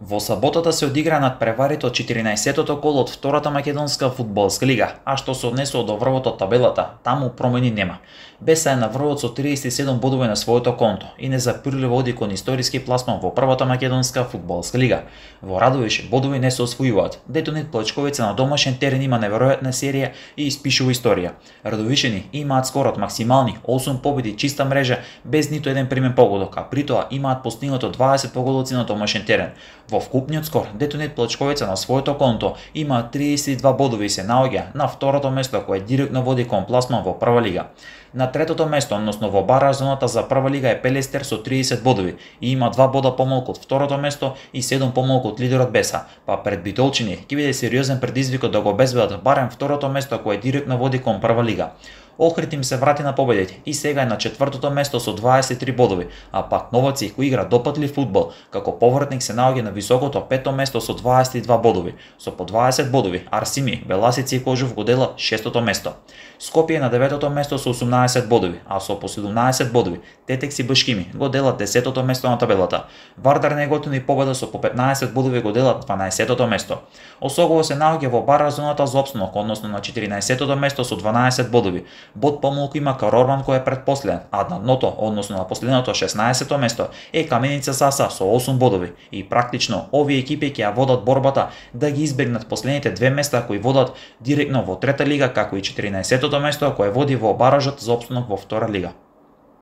Во саботата се одигра надпреварите од 14-тото кол од втората македонска фудбалска лига, а што се однесува до врвот од табелата, таму промени нема. Беса е на врвот со 37 бодови на своето конто и незапирливо оди кон историски пласман во првата македонска фудбалска лига. Во Радовиш бодови не се освојуваат. Детонет Плачковица на домашен терен има неверојатна серија и испишува историја. Радовишени имаат скорот максимални 8 победи чиста мрежа без ниту еден примен погодок, а при тоа имаат постигнато 20 погодоци на домашен терен. Во вкупниот скор, Детонет Плачковица на своето конто има 32 бодови и се наоѓа на второто место кое директно води кон пласман во прва лига. На третото место, односно во бараж зоната за прва лига е Пелестер со 30 бодови и има 2 бода помалку од второто место и 7 помалку од лидерот Беса, па пред Битолчини ќе биде сериозен предизвик да го обезбедат барем второто место кое директно води кон прва лига. Охрид им се врати на победите и сега е на четвртото место со 23 бодови, а пак Новаци кој игра допатлив фудбал, како повратник се наоѓа на високото пето место со 22 бодови. Со по 20 бодови Арсими, Беласици и Кожув го делат шестото место. Скопје на деветото место со 18 бодови, а со по 17 бодови Тетекс и Башкими го делат 10-тото место на табелата. Вардар Неготин и Победа со по 15 бодови го делат 12-тото место. Осогово се наоѓа во бараж зоната за опстанок, односно на 14-тото место со 12 бодови. Бод помалку има Карорман кој е предпоследен, а на дното, односно на последното 16-то место е Каменица Саса со 8 бодови. И практично овие екипи ќе ја водат борбата да ги избегнат последните две места кои водат директно во трета лига, како и 14-тото место кое води во баражот за опстанок во втора лига.